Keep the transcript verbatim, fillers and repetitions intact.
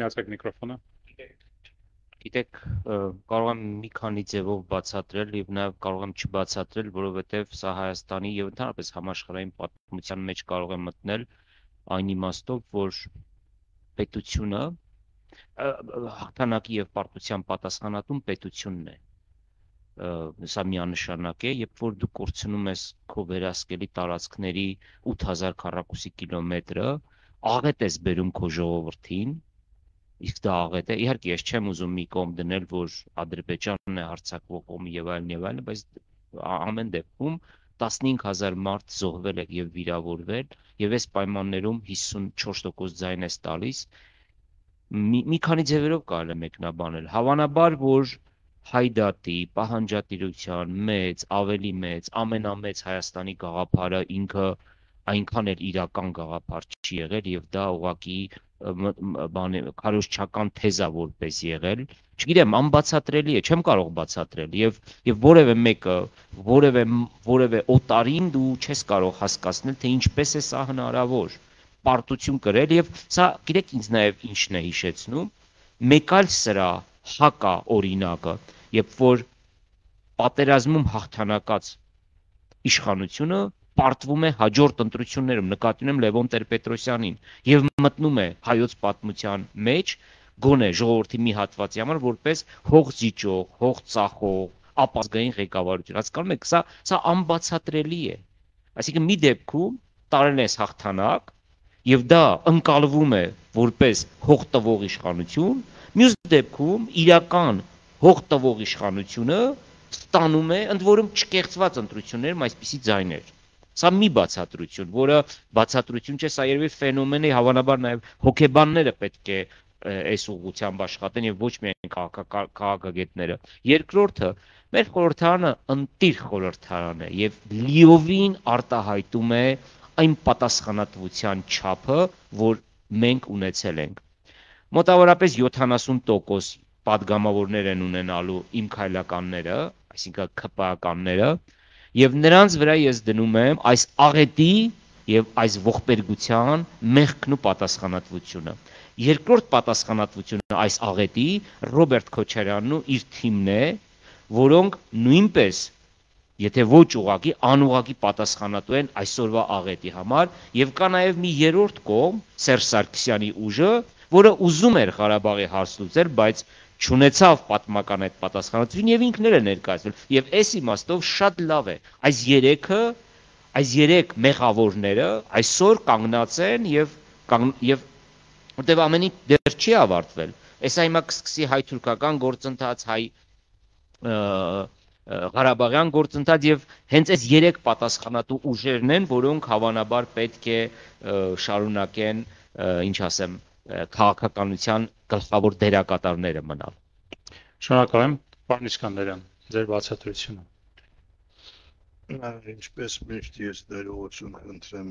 Միացեք միկրոֆոնը։ Գիտեք, կարող եմ մի քանի ձևով բացատրել եւ նաեւ կարող եմ չբացատրել, որովհետեւ սա Հայաստանի եւ ընդհանրապես համաշխարհային պատմության մեջ կարող է մտնել այն իմաստով, որ պետությունը հաղթանակի եւ պարտության պատասխանատուն պետությունն է։ Սա միանշանակ է, երբ որ դու կորցնում ես քո վերահսկելի տարածքների ութ հազար քառակուսի կիլոմետրը, աղետ ես բերում քո ժողովրդին, իսկ դա աղետ է, իհարկե ես չեմ ուզում մի կողմ դնել, որ Ադրբեջանն է հարձակվող կողմը եւ այլն եւ այլն, բայց ամեն դեպքում տասնհինգ հազար մարդ զոհվել է եւ վիրավորվել եւ այս պայմաններում հիսունչորս տոկոս ձայն ես տալիս, մի, մի քանի ձևերով կարելի է մեկնաբանել, հավանաբար, որ Հայդատի, պահանջատիրության մեծ, ավելի մեծ, ամենամեծ Հայաստանի գաղափարը ինքը այնքան էլ իրական գաղափար չի եղել եւ դա ուղղակի բան քարոզչական թեզա որպես եղել, չգիտեմ, անբացատրելի է, չեմ կարող բացատրել եւ եւ որևէ մեկը, որևէ որևէ օտարին դու չես կարող հասկացնել, թե ինչպես է սա հնարավոր, պարտություն կրել եւ սա, գիտեք, ինձ նաեւ ինչն է հիշեցնում, մեկ այլ սրա հակա օրինակը, երբ որ պատերազմում հաղթանակած իշխանությունը պարտվում է հաջորդ ընտրություններում, նկատի ունեմ Լևոն Տեր-Պետրոսյանին, եւ մտնում է հայոց պատմության մեջ, գոնե ժողովրդի մի հատվածի համար որպես հող զիջող, հող ծախող, ապազգային ղեկավարություն։ Հասկանում եք, սա սա անբացատրելի է։ Այսինքն մի դեպքում տարել ես հաղթանակ եւ դա ընկալվում է որպես հող տվող իշխանություն, մյուս դեպքում իրական հող տվող իշխանությունը ստանում է ընդ որում չկեղծված ընտրություններում այսպիսի ձայներ։ Սա մի բացատրություն, որը բացատրություն չէ, սա երևի ֆենոմեն է, հավանաբար նաև հոգեբանները պետք է այս ուղղությամբ աշխատեն եւ ոչ միայն քաղաքագետները։ Երկրորդը, մեր խորհրդարանը ընտիր խորհրդարան է եւ լիովին արտահայտում է այն պատասխանատվության չափը, որ մենք ունեցել ենք։ Մոտավորապես յոթանասուն տոկոս պատգամավորներ են ունենալու իմ քայլականները, այսինքն ՔՊԱ-ականները, եւ նրանց վրա ես դնում եմ այս աղետի եւ այս ողբերգության մեղքն ու պատասխանատվությունը։ Երկրորդ պատասխանատվությունը այս աղետի Ռոբերտ Քոչարյանն ու իր թիմն է, որոնք նույնպես, եթե ոչ ուղղակի, անուղղակի պատասխանատու են այսօրվա աղետի համար, եւ կա նաեւ մի երրորդ կողմ, Սերժ Սարգսյանի ուժը, որը ուզում էր Ղարաբաղի հարց լուծել, բայց չունեցավ պատմական այդ պատասխանատվություն եւ ինքն է ներկայացրել եւ այս իմաստով շատ լավ է այս երեքը այս երեք մեղավորները այսօր կանգնած են եւ եւ որտեւ ամեն ինչ դեռ չի ավարտվել այսա հիմա կսկսի հայ-թուրքական գործընթաց հայ Ղարաբաղյան գործընթաց եւ հենց այս երեք պատասխանատու ուժերն են, որոնք հավանաբար պետք է շարունակեն, ինչ ասեմ, քաղաքականության գլխավոր դերակատարները մնալ։ Շնորհակալ եմ, պարոն Իսկանդարյան, ձեր բացատրությունը։ Ինչպես միշտ ես ներողություն խնդրեմ